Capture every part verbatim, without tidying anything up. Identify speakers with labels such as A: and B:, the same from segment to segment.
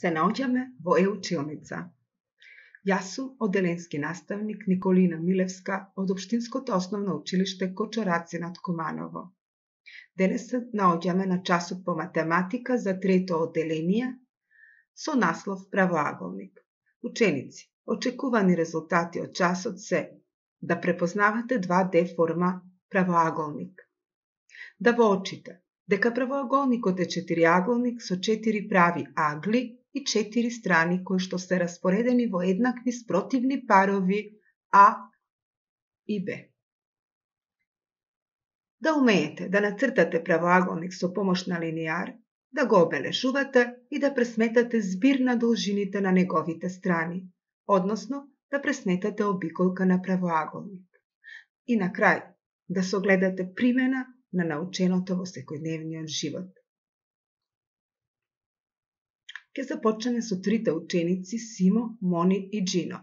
A: Се наоѓаме во е-училница. Јас сум оделенски наставник Николина Милевска од Општинското основно училиште Кочораци над Куманово. Денес се наоѓаме на часот по математика за трето оделение со наслов правоаголник. Ученици, очекувани резултати од часот се да препознавате два де форма правоаголник, да воочите дека правоаголникот е четириаголник со четири прави агли и четири страни кои што се распоредени во еднакви спротивни парови А и Б. Да умеете да нацртате правоаголник со помош на линијар, да го обележувате и да пресметате збир на должините на неговите страни, односно да пресметате обиколка на правоаголник. И на крај, да согледате примена на наученото во секојдневниот живот. Ке започнеме со трите ученици Симо, Мони и Джино.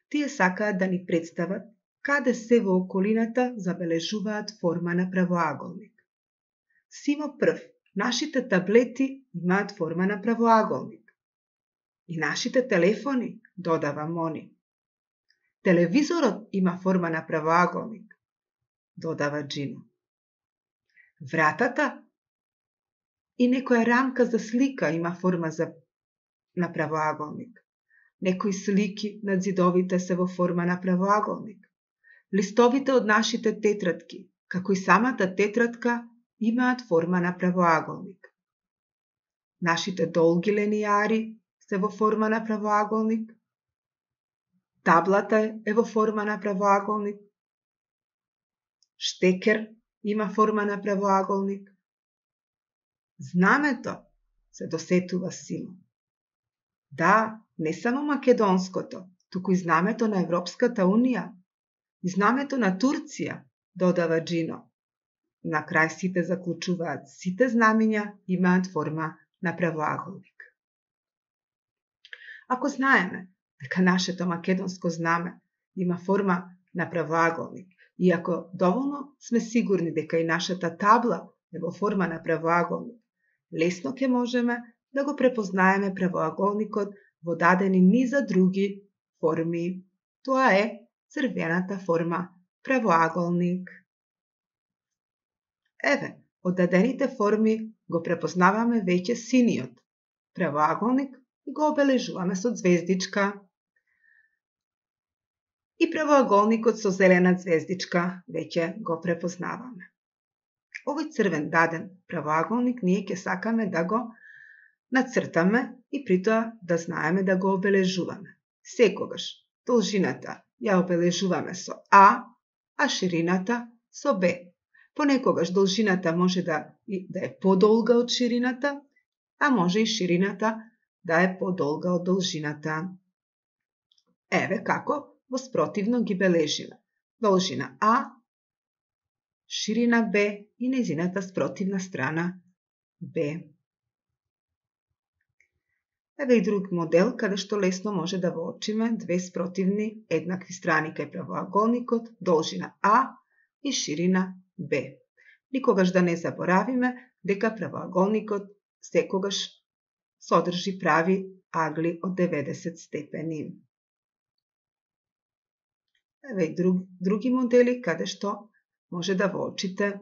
A: Тие сакаат да ни представат каде се во околината забележуваат форма на правоаголник. Симо прв, нашите таблети имаат форма на правоаголник. И нашите телефони, додава Мони. Телевизорот има форма на правоаголник, додава Джино. Вратата и некоја рамка за слика има форма за на правоаголник. Некои слики над зидовите се во форма на правоаголник. Листовите од нашите тетрадки, како и самата тетрадка, имаат форма на правоаголник. Нашите долги линијари се во форма на правоаголник. Таблата е во форма на правоаголник. Штекер има форма на правоаголник. Знамето, се досетува Симо. Да, не само македонското, туку и знамето на Европската Унија, и знамето на Турција, додава Джино. На крај сите заклучуваат, сите знамења имаат форма на правоаголник. Ако знаеме дека нашето македонско знаме има форма на правоаголник, и ако доволно сме сигурни дека и нашата табла е во форма на правоаголник, лесно ќе можеме да го препознаеме правоаголникот во дадени низа други форми. Тоа е црвената форма правоаголник. Еве, од дадените форми го препознаваме веќе синиот правоаголник и го обележуваме со звездичка. И правоаголникот со зелена звездичка веќе го препознаваме. Овој црвен даден правоаголник ние ќе сакаме да го нацртаме и притоа да знаеме да го обележуваме. Секогаш должината ја обележуваме со А, а ширината со Б. Понекогаш должината може да, да е подолга од ширината, а може и ширината да е подолга од должината. Еве како во спротивно ги бележиме. Должина А, ширина Б и нејзината спротивна страна Б. Еве и друг модел каде што лесно може да воочиме две спротивни еднакви страни кај правоаголникот, должина А и ширина Б. Никогаш да не заборавиме дека правоаголникот секогаш содржи прави агли од деветдесет степени. Еве и друг, други модели каде што може да воочите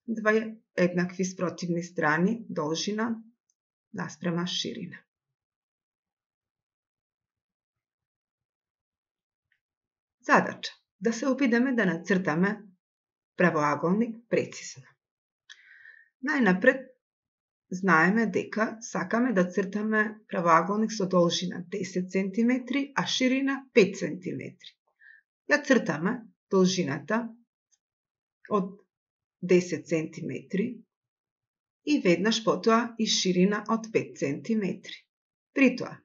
A: две еднакви спротивни страни, должина наспрема ширина. Задача. Да се обидеме да нацртаме правоаголник прецизно. Најнапред знаеме дека сакаме да цртаме правоаголник со должина десет сантиметри, а ширина пет сантиметри. Ја цртаме должината од десет сантиметри и веднаш потоа и ширина од пет сантиметри. Притоа,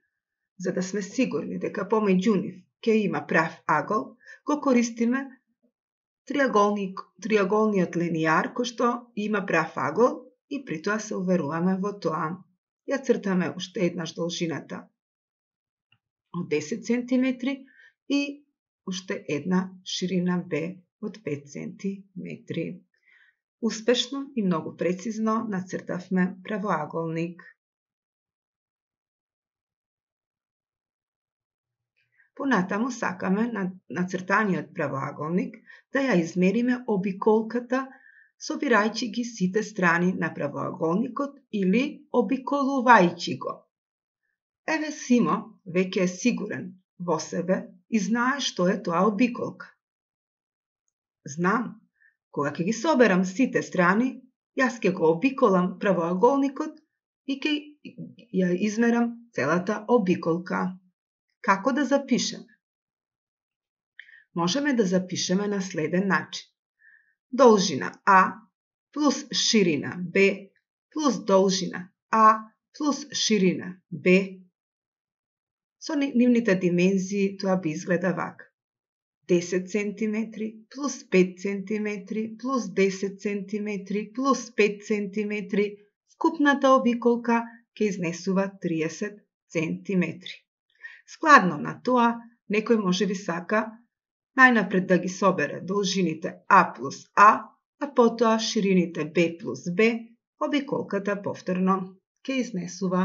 A: за да сме сигурни дека помеѓу нив ќе има прав агол, го користиме триаголник, триаголниот линијар кој што има прав агол и притоа се уверуваме во тоа. Ја цртаме уште еднаш должината од десет сантиметри и уште една ширина Б од пет сантиметри. Успешно и многу прецизно нацртавме правоаголник. Понатаму сакаме на нацртаниот правоаголник да ја измериме обиколката собирајќи ги сите страни на правоаголникот или обиколувајќи го. Еве Симо веќе е сигурен во себе и знае што е тоа обиколка. Знам, кога ќе ги соберам сите страни, јас ќе го обиколам правоаголникот и ќе ја измерам целата обиколка. Како да запишеме? Можеме да запишеме на следен начин. Должина А плюс ширина Б плюс должина А плюс ширина Б. Со нивните димензии тоа би изгледа вака. десет центиметри плюс пет центиметри плюс десет центиметри плюс пет центиметри. Скупната обиколка ќе изнесува триесет центиметри. Складно на тоа, некој може би сака најнапред да ги собере должините А плюс А, а потоа ширините Б плюс Б, обиколката повторно ќе изнесува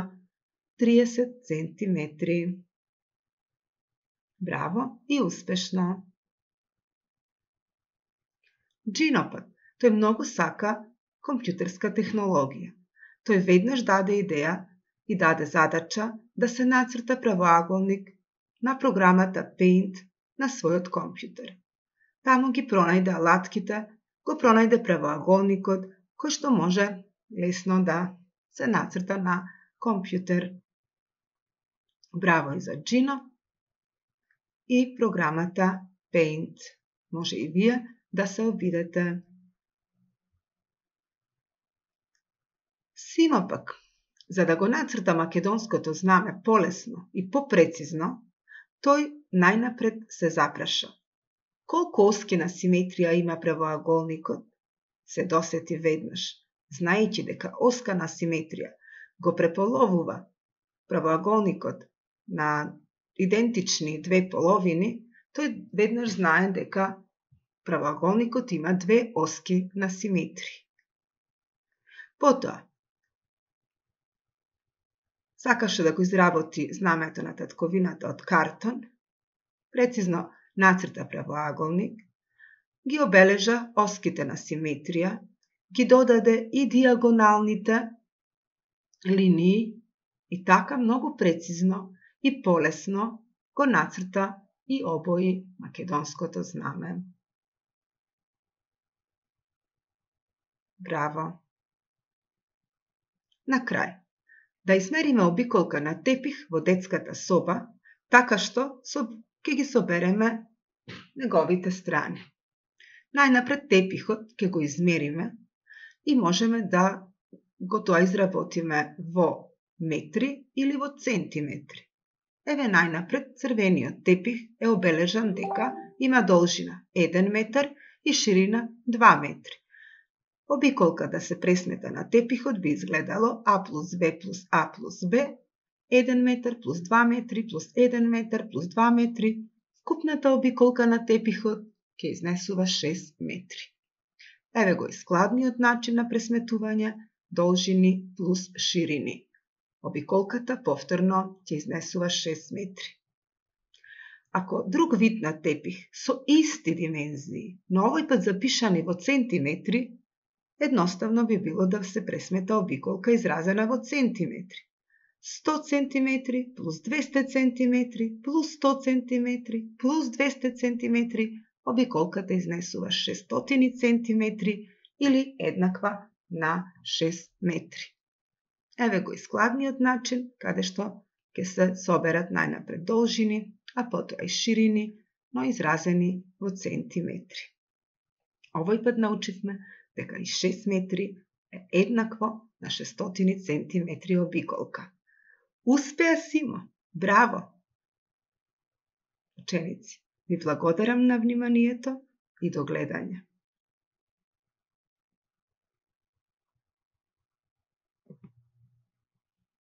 A: триесет центиметри. Браво и успешно! Джино пак, тој многу сака компјутерска технологија. Тој веднаш даде идеја и даде задача да се нацрта правоаголник на програмата Paint на својот компјутер. Таму ги пронајде алатките, го пронајде правоаголникот, кој што може лесно да се нацрта на компјутер. Браво и за Джино и програмата Paint. Може и вие да се обидете. Симо пак, за да го нацрта македонското знаме полесно и попрецизно, тој најнапред се запраша. Колку оски на симетрија има правоаголникот? Се досети веднаш, знаејќи дека оска на симетрија го преполовува правоаголникот на идентични две половини, тој веднаш знае дека правоаголникот има две оски на симетрија. Потоа, сакаше да го изработи знамето на татковината од картон, прецизно нацрта правоаголник, ги обележа оските на симетрија, ги додаде и диагоналните линии и така многу прецизно и полесно го нацрта и обои македонското знаме. Браво! На крај, да измериме обиколка на тепих во детската соба, така што ќе ги собереме неговите страни. Најнапред тепихот ќе го измериме и можеме да го тоа изработиме во метри или во центиметри. Еве најнапред црвениот тепих е обележан дека има должина еден метар и ширина два метри. Обиколка да се пресмета на тепихот би изгледало А плюс Б плюс А плюс Б, еден метар плюс два метри плюс еден метар плюс два метри. Скупната обиколка на тепихот ќе изнесува шест метри. Еве го и складниот начин на пресметување должини плюс ширини. Обиколката повторно ќе изнесува шест метри. Ако друг вид на тепих со исти димензии, но овој пат запишани во центиметри, едноставно би било да се пресмета обиколка изразена во центиметри. сто центиметри плюс двесте центиметри плюс сто центиметри плюс двесте центиметри, обиколката изнесува шестстотини центиметри или еднаква на шест метри. Еве го и складниот начин, каде што ќе се соберат најнапред должини, а потоа и ширини, но изразени во центиметри. Овој пат научивме дека и шест метри е еднакво на шестстотини центиметри обиколка. Успеа Симо! Браво! Ученици, ви благодарам на вниманието и до гледање.